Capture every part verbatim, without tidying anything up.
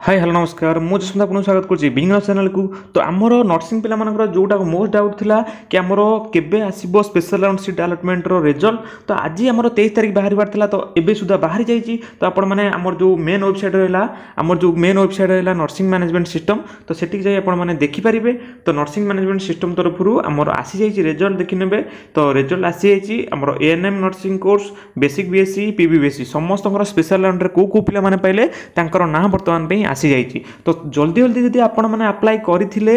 High hello ନମସ୍କାର ମୁଁ ଯଶବନ୍ତ ଆପଣଙ୍କୁ ସ୍ୱାଗତ କରୁଛି ବିଜନେସ୍ ଚ୍ୟାନେଲକୁ ତ ଆମର ନର୍ସିଂ ପିଲାମାନଙ୍କର ଯେଉଁଟା ମୋଷ୍ଟ ଡାଉଟ୍ ଥିଲା କି ଆମର କେବେ ଆସିବ ସ୍ପେଶାଲ ରାଉଣ୍ଡ ସିଟ୍ ଆଲଟମେଣ୍ଟର ରେଜଲ୍ଟ ତ ଆଜି ଆମର ତେଇଶ ତାରିଖ ବାହାରିବାର ଥିଲା ତ ଏବେ ସୁଦ୍ଧା ବାହାରି ଯାଇଛି ତ ଆପଣମାନେ ଆମର ଯେଉଁ ମେନ୍ ୱେବସାଇଟ୍ ରହିଲା ଆମର ଯେଉଁ ମେନ୍ ୱେବସାଇଟ୍ ରହିଲା ନର୍ସିଂ ମ୍ୟାନେଜମେଣ୍ଟ ସିଷ୍ଟମ୍ ତ ସେଠିକି ଯାଇ ଆପଣମାନେ ଦେଖିପାରିବେ ତ ନର୍ସିଂ ମ୍ୟାନେଜମେଣ୍ଟ ସିଷ୍ଟମ୍ ତରଫରୁ ଆମର ଆସିଯାଇଛି ରେଜଲ୍ଟ ଦେଖିନେବେ ତ ରେଜଲ୍ଟ ଆସିଯାଇଛି ଆମର A N M nursing course basic B S C P B B S C ସମସ୍ତଙ୍କର ସ୍ପେଶାଲ ରାଉଣ୍ଡରେ କେଉଁ କେଉଁ ପିଲାମାନେ ପାଇଲେ ତାଙ୍କର ନାଁ ବର୍ତ୍ତମାନ ପାଇଁ ଆସିଯାଇଛି ତ ଜଲ୍ଦି ଜଲ୍ଦି ଯଦି ଆପଣମାନେ ଆପ୍ଲାଏ କରିଥିଲେ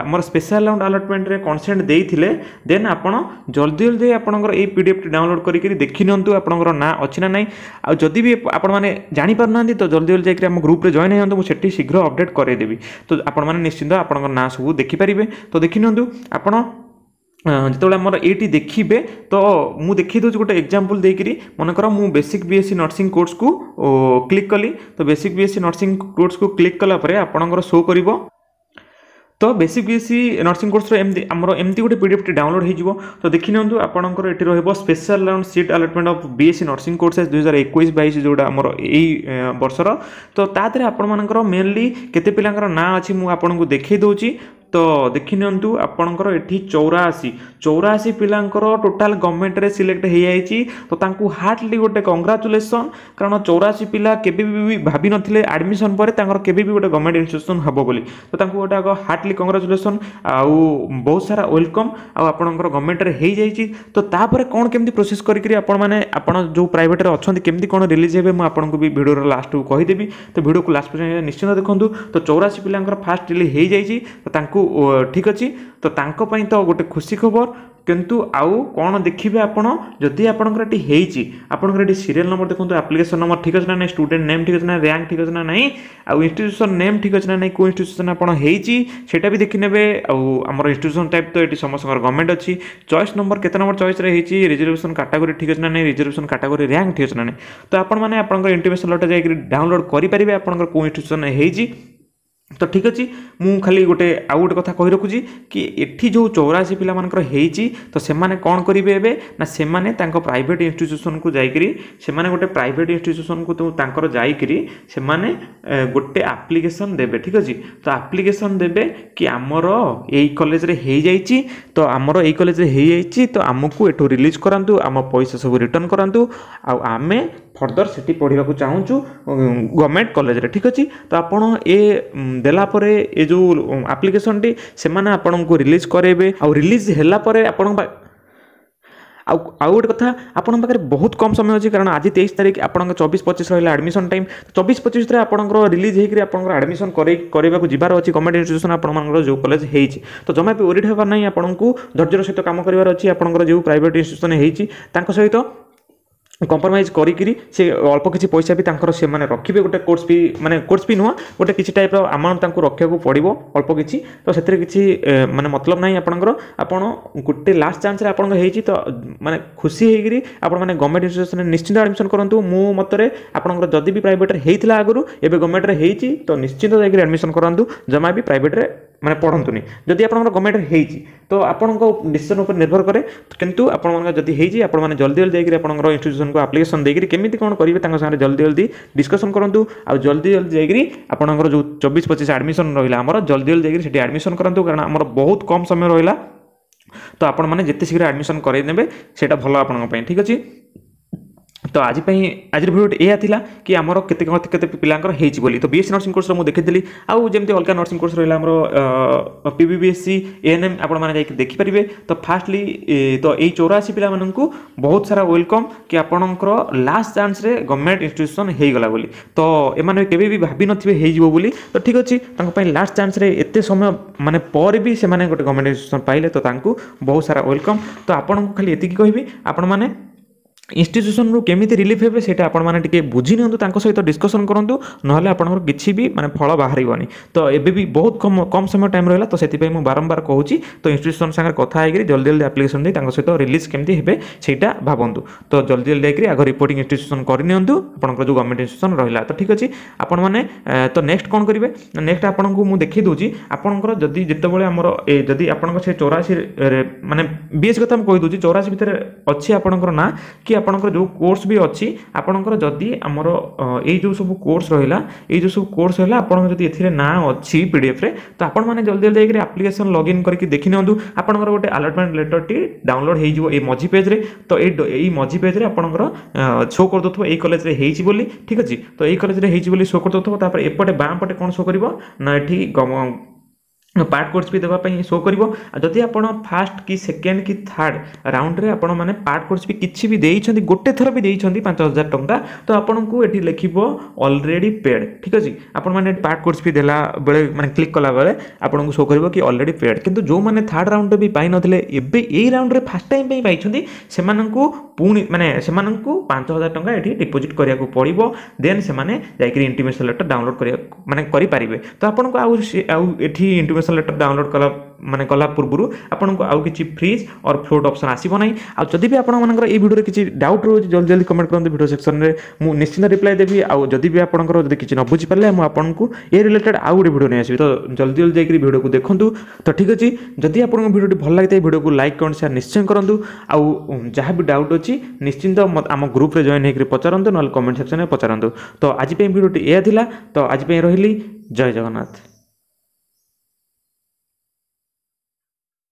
ଆମର ସ୍ପେଶାଲ ରାଉଣ୍ଡ ଆଲଟମେଣ୍ଟରେ କନସେଣ୍ଟ ଦେଇଥିଲେ ଦେନ୍ ଆପଣ ଜଲ୍ଦି ଜଲ୍ଦି ଆପଣଙ୍କର ଏଇ ପି ଡି ଏଫ୍ଟି ଡାଉନଲୋଡ଼ କରିକି ଦେଖିନିଅନ୍ତୁ ଆପଣଙ୍କର ନାଁ ଅଛି ନା ନାହିଁ ଆଉ ଯଦି ବି ଆପଣମାନେ ଜାଣିପାରୁନାହାନ୍ତି ତ ଜଲ୍ଦି ଜଲ୍ଦି ଯାଇକରି ଆମ ଗ୍ରୁପ୍ରେ ଜଏନ୍ ହେଇଯାନ୍ତୁ ମୁଁ ସେଠି ଶୀଘ୍ର ଅପଡ଼େଟ୍ କରାଇଦେବି ତ ଆପଣମାନେ ନିଶ୍ଚିନ୍ତ ଆପଣଙ୍କ ନାଁ ସବୁ ଦେଖିପାରିବେ ତ ଦେଖିନିଅନ୍ତୁ ଆପଣ ଯେତେବେଳେ ଆମର ଏଇଠି ଦେଖିବେ ତ ମୁଁ ଦେଖେଇ ଦେଉଛି ଗୋଟେ ଏକ୍ଜାମ୍ପଲ୍ ଦେଇକରି ମନେକର ମୁଁ basic B S C nursing କୋର୍ସକୁ କ୍ଲିକ୍ କଲି ତ basic B S C nursing କୋର୍ସକୁ click କଲା ପରେ ଆପଣଙ୍କର ଶୋ କରିବ ତ basic B S C nursing କୋର୍ସର ଏମିତି ଆମର ଏମିତି ଗୋଟେ ପି ଡି ଏଫ୍ଟି ଡାଉନଲୋଡ଼ ହେଇଯିବ ତ ଦେଖିନିଅନ୍ତୁ ଆପଣଙ୍କର ଏଠି ରହିବ special round seat allotment of B Sc nursing courses ଦୁଇହଜାର ଏକୋଇଶ ବାଇଶ ଯେଉଁଟା ଆମର ଏଇ ବର୍ଷର ତ ତା ଦେହରେ ଆପଣମାନଙ୍କର ମେନଲି କେତେ ପିଲାଙ୍କର ନାଁ ଅଛି ମୁଁ ଆପଣଙ୍କୁ ଦେଖେଇ ଦେଉଛି ତ ଦେଖିନିଅନ୍ତୁ ଆପଣଙ୍କର ଏଠି ଚଉରାଅଶୀ ଚଉରାଅଶୀ ପିଲାଙ୍କର ଟୋଟାଲ୍ ଗଭର୍ଣ୍ଣମେଣ୍ଟରେ ସିଲେକ୍ଟ ହେଇଯାଇଛି ତ ତାଙ୍କୁ ହାର୍ଟଲି ଗୋଟେ କଂଗ୍ରାଚୁଲେସନ୍ କାରଣ ଚଉରାଅଶୀ ପିଲା କେବେ ବି ଭାବିନଥିଲେ ଆଡ଼ମିସନ୍ ପରେ ତାଙ୍କର କେବେ ବି ଗୋଟେ ଗଭର୍ଣ୍ଣମେଣ୍ଟ ଇନଷ୍ଟିଟ୍ୟୁସନ୍ ହେବ ବୋଲି ତ ତାଙ୍କୁ ଗୋଟେ ଆଗ ହାର୍ଟଲି କଂଗ୍ରାଚୁଲେସନ୍ ଆଉ ବହୁତ ସାରା welcome ଆଉ ଆପଣଙ୍କର ଗଭର୍ଣ୍ଣମେଣ୍ଟରେ ହେଇଯାଇଛି ତ ତାପରେ କ'ଣ କେମିତି ପ୍ରୋସେସ୍ କରିକିରି ଆପଣମାନେ ଆପଣ ଯେଉଁ ପ୍ରାଇଭେଟରେ ଅଛନ୍ତି କେମିତି କ'ଣ ରିଲିଜ୍ ହେବେ ମୁଁ ଆପଣଙ୍କୁ ବି ଭିଡ଼ିଓର ଲାଷ୍ଟକୁ କହିଦେବି ତ ଭିଡ଼ିଓକୁ ଲାଷ୍ଟ ପର୍ଯ୍ୟନ୍ତ ନିଶ୍ଚିନ୍ତ ଦେଖନ୍ତୁ ତ ଚଉରାଅଶୀ ପିଲାଙ୍କର ଫାଷ୍ଟ ରିଲିଜ୍ ହେଇଯାଇଛି ତ ତାଙ୍କୁ ଠିକ୍ ଅଛି ତ ତାଙ୍କ ପାଇଁ ତ ଗୋଟେ ଖୁସି ଖବର କିନ୍ତୁ ଆଉ କ'ଣ ଦେଖିବେ ଆପଣ ଯଦି ଆପଣଙ୍କର ଏଠି ହେଇଛି ଆପଣଙ୍କର ଏଠି ସିରିଏଲ୍ ନମ୍ବର ଦେଖନ୍ତୁ ଆପ୍ଲିକେସନ୍ ନମ୍ବର ଠିକ୍ ଅଛି ନା ନାହିଁ ଷ୍ଟୁଡେଣ୍ଟ ନେମ୍ ଠିକ୍ ଅଛି ନା ର୍ୟାଙ୍କ ଠିକ୍ ଅଛି ନା ନାହିଁ ଆଉ ଇନଷ୍ଟିଟ୍ୟୁସନ୍ ନେମ୍ ଠିକ୍ ଅଛି ନା ନାହିଁ କେଉଁ ଇନଷ୍ଟିଟ୍ୟୁସନ୍ ଆପଣ ହେଇଛି ସେଇଟା ବି ଦେଖିନେବେ ଆଉ ଆମର ଇନଷ୍ଟିଟ୍ୟୁସନ୍ ଟାଇପ୍ ତ ଏଠି ସମସ୍ତଙ୍କର ଗଭର୍ଣ୍ଣମେଣ୍ଟ ଅଛି ଚଏସ୍ ନମ୍ବର କେତେ ନମ୍ବର ଚଏସ୍ରେ ହେଇଛି ରିଜର୍ଭେସନ୍ କାଟାଗୋରୀ ଠିକ୍ ଅଛି ନା ନାହିଁ ରିଜର୍ଭେସନ୍ କାଟାଗୋରୀ ର୍ୟାଙ୍କ ଠିକ୍ ଅଛି ନା ନାହିଁ ତ ଆପଣମାନେ ଆପଣଙ୍କର ଇଣ୍ଟିମେସନ୍ ଲେଟର୍ ଯାଇକରି ଡାଉନଲୋଡ଼ କରିପାରିବେ ଆପଣଙ୍କର କେଉଁ ଇନଷ୍ଟିଟ୍ୟୁସନ୍ ହେଇଛି ତ ଠିକ୍ ଅଛି ମୁଁ ଖାଲି ଗୋଟେ ଆଉ ଗୋଟେ କଥା କହି ରଖୁଛି କି ଏଠି ଯେଉଁ ଚଉରାଅଶୀ ପିଲାମାନଙ୍କର ହେଇଛି ତ ସେମାନେ କ'ଣ କରିବେ ଏବେ ନା ସେମାନେ ତାଙ୍କ ପ୍ରାଇଭେଟ୍ ଇନଷ୍ଟିଟ୍ୟୁସନ୍କୁ ଯାଇକରି ସେମାନେ ଗୋଟେ ପ୍ରାଇଭେଟ୍ ଇନଷ୍ଟିଟ୍ୟୁସନ୍କୁ ତାଙ୍କର ଯାଇକରି ସେମାନେ ଗୋଟେ ଆପ୍ଲିକେସନ୍ ଦେବେ ଠିକ୍ ଅଛି ତ ଆପ୍ଲିକେସନ୍ ଦେବେ କି ଆମର ଏଇ କଲେଜରେ ହେଇଯାଇଛି ତ ଆମର ଏଇ କଲେଜରେ ହେଇଯାଇଛି ତ ଆମକୁ ଏଠୁ ରିଲିଜ୍ କରାନ୍ତୁ ଆମ ପଇସା ସବୁ ରିଟର୍ଣ୍ଣ କରାନ୍ତୁ ଆଉ ଆମେ ଫର୍ଦର ସେଠି ପଢ଼ିବାକୁ ଚାହୁଁଛୁ ଗଭର୍ଣ୍ଣମେଣ୍ଟ କଲେଜରେ ଠିକ୍ ଅଛି ତ ଆପଣ ଏ ଦେଲା ପରେ ଏ ଯେଉଁ ଆପ୍ଲିକେସନ୍ଟି ସେମାନେ ଆପଣଙ୍କୁ ରିଲିଜ୍ କରାଇବେ ଆଉ ରିଲିଜ୍ ହେଲା ପରେ ଆପଣଙ୍କ ଆଉ ଆଉ ଗୋଟେ କଥା ଆପଣଙ୍କ ପାଖରେ ବହୁତ କମ୍ ସମୟ ଅଛି କାରଣ ଆଜି ତେଇଶ ତାରିଖ ଆପଣଙ୍କ ଚବିଶ ପଚିଶ ରହିଲା ଆଡ଼ମିସନ୍ ଟାଇମ୍ ଚବିଶ ପଚିଶ ଭିତରେ ଆପଣଙ୍କର ରିଲିଜ୍ ହେଇକରି ଆପଣଙ୍କର ଆଡ଼ମିସନ୍ କରେଇ କରିବାକୁ ଯିବାର ଅଛି ଗଭର୍ଣ୍ଣମେଣ୍ଟ ଇନଷ୍ଟିଟ୍ୟୁସନ୍ ଆପଣମାନଙ୍କର ଯେଉଁ କଲେଜ ହେଇଛି ତ ଜମା ବି ୱରିଡ୍ ହେବାର ନାହିଁ ଆପଣଙ୍କୁ ଧୈର୍ଯ୍ୟର ସହିତ କାମ କରିବାର ଅଛି ଆପଣଙ୍କର ଯେଉଁ ପ୍ରାଇଭେଟ୍ ଇନଷ୍ଟିଟ୍ୟୁସନ୍ ହେଇଛି ତାଙ୍କ ସହିତ କମ୍ପ୍ରମାଇଜ୍ କରିକିରି ସେ ଅଳ୍ପ କିଛି ପଇସା ବି ତାଙ୍କର ସେମାନେ ରଖିବେ ଗୋଟେ କୋର୍ସ ଫି ମାନେ କୋର୍ସ ଫି ନୁହଁ ଗୋଟେ କିଛି ଟାଇପ୍ର ଆମାଉଣ୍ଟ ତାଙ୍କୁ ରଖିବାକୁ ପଡ଼ିବ ଅଳ୍ପ କିଛି ତ ସେଥିରେ କିଛି ମାନେ ମତଲବ ନାହିଁ ଆପଣଙ୍କର ଆପଣ ଗୋଟେ ଲାଷ୍ଟ ଚାନ୍ସରେ ଆପଣଙ୍କର ହେଇଛି ତ ମାନେ ଖୁସି ହେଇକିରି ଆପଣମାନେ ଗଭର୍ଣ୍ଣମେଣ୍ଟ ଇନଷ୍ଟିଟ୍ୟୁସନରେ ନିଶ୍ଚିନ୍ତ ଆଡ଼ମିସନ୍ କରନ୍ତୁ ମୋ ମତରେ ଆପଣଙ୍କର ଯଦି ବି ପ୍ରାଇଭେଟରେ ହେଇଥିଲା ଆଗରୁ ଏବେ ଗଭର୍ଣ୍ଣମେଣ୍ଟରେ ହେଇଛି ତ ନିଶ୍ଚିନ୍ତ ଯାଇକରି ଆଡ଼ମିସନ୍ କରାନ୍ତୁ ଜମା ବି ପ୍ରାଇଭେଟରେ ମାନେ ପଢ଼ନ୍ତୁନି ଯଦି ଆପଣଙ୍କର ଗଭର୍ଣ୍ଣମେଣ୍ଟରେ ହେଇଛି ତ ଆପଣଙ୍କ ଡିସିସନ୍ ଉପରେ ନିର୍ଭର କରେ କିନ୍ତୁ ଆପଣଙ୍କର ଯଦି ହେଇଛି ଆପଣମାନେ ଜଲ୍ଦି ଜଲ୍ଦି ଯାଇକରି ଆପଣଙ୍କର ଇନଷ୍ଟିଟ୍ୟୁସନ୍କୁ ଆପ୍ଲିକେସନ୍ ଦେଇକରି କେମିତି କ'ଣ କରିବେ ତାଙ୍କ ସାଙ୍ଗରେ ଜଲ୍ଦି ଜଲ୍ଦି ଡିସ୍କସନ୍ କରନ୍ତୁ ଆଉ ଜଲ୍ଦି ଜଲ୍ଦି ଯାଇକରି ଆପଣଙ୍କର ଯେଉଁ ଚବିଶ ପଚିଶ ଆଡ଼ମିସନ୍ ରହିଲା ଆମର ଜଲ୍ଦି ଜଲ୍ଦି ଯାଇକରି ସେଠି ଆଡ଼ମିସନ୍ କରନ୍ତୁ କାରଣ ଆମର ବହୁତ କମ୍ ସମୟ ରହିଲା ତ ଆପଣମାନେ ଯେତେ ଶୀଘ୍ର ଆଡ଼ମିସନ୍ କରାଇ ନେବେ ସେଇଟା ଭଲ ଆପଣଙ୍କ ପାଇଁ ଠିକ୍ ଅଛି ତ ଆଜି ପାଇଁ ଆଜିର ଭିଡ଼ିଓଟି ଏଇଆ ଥିଲା କି ଆମର କେତେ କେତେ ପିଲାଙ୍କର ହେଇଛି ବୋଲି ତ ବି ଏସ୍ ସି ନର୍ସିଂ କୋର୍ସର ମୁଁ ଦେଖିଥିଲି ଆଉ ଯେମିତି ଅଲଗା ନର୍ସିଂ କୋର୍ସ ରହିଲା ଆମର P B B S C A N M ଆପଣମାନେ ଯାଇକି ଦେଖିପାରିବେ ତ ଫାଷ୍ଟଲି ତ ଏଇ ଚଉରାଅଶୀ ପିଲାମାନଙ୍କୁ ବହୁତ ସାରା welcome କି ଆପଣଙ୍କର ଲାଷ୍ଟ ଚାନ୍ସରେ ଗଭର୍ଣ୍ଣମେଣ୍ଟ ଇନଷ୍ଟିଟ୍ୟୁସନ୍ ହେଇଗଲା ବୋଲି ତ ଏମାନେ କେବେ ବି ଭାବିନଥିବେ ହେଇଯିବ ବୋଲି ତ ଠିକ୍ ଅଛି ତାଙ୍କ ପାଇଁ ଲାଷ୍ଟ ଚାନ୍ସରେ ଏତେ ସମୟ ମାନେ ପରେ ବି ସେମାନେ ଗୋଟେ ଗଭର୍ଣ୍ଣମେଣ୍ଟ ଇନଷ୍ଟିଟ୍ୟୁସନ୍ ପାଇଲେ ତ ତାଙ୍କୁ ବହୁତ ସାରା welcome ତ ଆପଣଙ୍କୁ ଖାଲି ଏତିକି କହିବି ଆପଣମାନେ ଇନଷ୍ଟିଟ୍ୟୁସନ୍ରୁ କେମିତି ରିଲିଫ୍ ହେବେ ସେଇଟା ଆପଣମାନେ ଟିକେ ବୁଝି ନିଅନ୍ତୁ ତାଙ୍କ ସହିତ ଡିସ୍କସନ୍ କରନ୍ତୁ ନହେଲେ ଆପଣଙ୍କର କିଛି ବି ମାନେ ଫଳ ବାହାରିବନି ତ ଏବେ ବି ବହୁତ କମ୍ କମ୍ ସମୟ ଟାଇମ୍ ରହିଲା ତ ସେଥିପାଇଁ ମୁଁ ବାରମ୍ବାର କହୁଛି ତ ଇନଷ୍ଟିଟ୍ୟୁସନ୍ ସାଙ୍ଗରେ କଥା ହେଇକରି ଜଲ୍ଦି ଜଲ୍ଦି ଆପ୍ଲିକେସନ୍ ଦେଇ ତାଙ୍କ ସହିତ ରିଲିଜ୍ କେମିତି ହେବେ ସେଇଟା ଭାବନ୍ତୁ ତ ଜଲ୍ଦି ଜଲ୍ଦି ଯାଇକରି ଆଗ ରିପୋର୍ଟିଂ ଇନଷ୍ଟିଟ୍ୟୁସନ୍ କରିନିଅନ୍ତୁ ଆପଣଙ୍କର ଯେଉଁ ଗଭର୍ଣ୍ଣମେଣ୍ଟ ଇନଷ୍ଟିଟ୍ୟୁସନ୍ ରହିଲା ତ ଠିକ୍ ଅଛି ଆପଣମାନେ ତ ନେକ୍ସଟ କ'ଣ କରିବେ ନେକ୍ସଟ ଆପଣଙ୍କୁ ମୁଁ ଦେଖେଇ ଦେଉଛି ଆପଣଙ୍କର ଯଦି ଯେତେବେଳେ ଆମର ଏ ଯଦି ଆପଣଙ୍କ ସେ ଚଉରାଅଶୀ ମାନେ ବି ଏସ୍ କଥା ମୁଁ କହିଦେଉଛି ଚଉରାଅଶୀ ଭିତରେ ଅଛି ଆପଣଙ୍କର ନାଁ କି ଆପଣଙ୍କର ଯେଉଁ କୋର୍ସ ବି ଅଛି, ଆପଣଙ୍କର ଯଦି ଆମର ଏଇ ଯେଉଁ ସବୁ କୋର୍ସ ରହିଲା, ଏଇ ଯେଉଁ ସବୁ କୋର୍ସ ରହିଲା, ଆପଣଙ୍କର ଯଦି ଏଥିରେ ନାଁ ଅଛି ପି ଡି ଏଫ୍ରେ, ତ ଆପଣମାନେ ଜଲ୍ଦି ଜଲ୍ଦି ଯାଇକରି ଆପ୍ଲିକେସନ୍ ଲଗ୍ଇନ୍ କରିକି ଦେଖିନିଅନ୍ତୁ। ଆପଣଙ୍କର ଗୋଟେ ଆଲଟମେଣ୍ଟ ଲେଟର୍ଟି ଡାଉନଲୋଡ଼ ହେଇଯିବ ଏଇ ମଝି ପେଜ୍ରେ। ତ ଏଇ ଏଇ ମଝି ପେଜ୍ରେ ଆପଣଙ୍କର ଶୋ କରିଦେଉଥିବ ଏଇ କଲେଜରେ ହେଇଛି ବୋଲି। ଠିକ୍ ଅଛି, ତ ଏଇ କଲେଜରେ ହେଇଛି ବୋଲି ଶୋ କରିଦେଉଥିବ। ତାପରେ ଏପଟେ ବାଁ ପଟେ କ'ଣ ଶୋ କରିବ ନା ଏଠି ପାର୍ଟ କୋର୍ସ ବି ଦେବା ପାଇଁ ଶୋ କରିବ। ଆଉ ଯଦି ଆପଣ ଫାଷ୍ଟ କି ସେକେଣ୍ଡ କି ଥାର୍ଡ଼ ରାଉଣ୍ଡରେ ଆପଣମାନେ ପାର୍ଟ କୋର୍ସ ବି କିଛି ବି ଦେଇଛନ୍ତି, ଗୋଟେ ଥର ବି ଦେଇଛନ୍ତି ପାଞ୍ଚ ହଜାର ଟଙ୍କା, ତ ଆପଣଙ୍କୁ ଏଠି ଲେଖିବ ଅଲରେଡ଼ି ପେଡ଼୍। ଠିକ୍ ଅଛି, ଆପଣମାନେ ପାର୍ଟ କୋର୍ସ ବି ଦେଲା ବେଳେ, ମାନେ କ୍ଲିକ୍ କଲାବେଳେ ଆପଣଙ୍କୁ ଶୋ କରିବ କି ଅଲରେଡ଼ି ପେଡ଼୍। କିନ୍ତୁ ଯେଉଁମାନେ ଥାର୍ଡ଼ ରାଉଣ୍ଡରେ ବି ପାଇନଥିଲେ, ଏବେ ଏଇ ରାଉଣ୍ଡରେ ଫାଷ୍ଟ ଟାଇମ୍ ପାଇଁ ପାଇଛନ୍ତି, ସେମାନଙ୍କୁ ପୁଣି ମାନେ ସେମାନଙ୍କୁ ପାଞ୍ଚ ହଜାର ଟଙ୍କା ଏଠି ଡିପୋଜିଟ୍ କରିବାକୁ ପଡ଼ିବ। ଦେନ୍ ସେମାନେ ଯାଇକରି ଇଣ୍ଟିମେସନ୍ ଲେଟର୍ ଡାଉନଲୋଡ଼ କରିବାକୁ ମାନେ କରିପାରିବେ। ତ ଆପଣଙ୍କୁ ଆଉ ଆଉ ଏଠି ଇଣ୍ଟିମେସନ୍ ଲେଟର୍ ଡାଉନଲୋଡ଼ କଲା ମାନେ କଲା ପୂର୍ବରୁ ଆପଣଙ୍କୁ ଆଉ କିଛି ଫ୍ରିଜ୍ ଅର୍ ଫ୍ଲୋଟ୍ ଅପସନ୍ ଆସିବ ନାହିଁ। ଆଉ ଯଦି ବି ଆପଣମାନଙ୍କର ଏଇ ଭିଡ଼ିଓରେ କିଛି ଡାଉଟ୍ ରହୁଛି, ଜଲ୍ଦି ଜଲ୍ଦି କମେଣ୍ଟ କରନ୍ତୁ ଭିଡ଼ିଓ ସେକ୍ସନରେ, ମୁଁ ନିଶ୍ଚିନ୍ତ ରିପ୍ଲାଏ ଦେବି। ଆଉ ଯଦି ବି ଆପଣଙ୍କର ଯଦି କିଛି ନ ବୁଝିପାରିଲେ, ମୁଁ ଆପଣଙ୍କୁ ଏ ରିଲେଟେଡ଼ ଆଉ ଗୋଟେ ଭିଡ଼ିଓ ନେଇ ଆସିବି। ତ ଜଲ୍ଦି ଜଲ୍ଦି ଯାଇକରି ଭିଡ଼ିଓକୁ ଦେଖନ୍ତୁ। ତ ଠିକ୍ ଅଛି, ଯଦି ଆପଣଙ୍କ ଭିଡ଼ିଓଟି ଭଲ ଲାଗିଥାଏ, ଭିଡ଼ିଓକୁ ଲାଇକ୍, କମେଣ୍ଟ, ସେୟାର ନିଶ୍ଚୟ କରନ୍ତୁ। ଆଉ ଯାହା ବି ଡାଉଟ୍ ଅଛି, ନିଶ୍ଚିନ୍ତ ଆମ ଗ୍ରୁପ୍ରେ ଜଏନ୍ ହେଇକରି ପଚାରନ୍ତୁ, ନହେଲେ କମେଣ୍ଟ ସେକ୍ସନରେ ପଚାରନ୍ତୁ। ତ ଆଜି ପାଇଁ ଭିଡ଼ିଓଟି ଏଇଆ ଥିଲା। ତ ଆଜି ପାଇଁ ରହିଲି, ଜୟ ଜଗନ୍ନାଥ।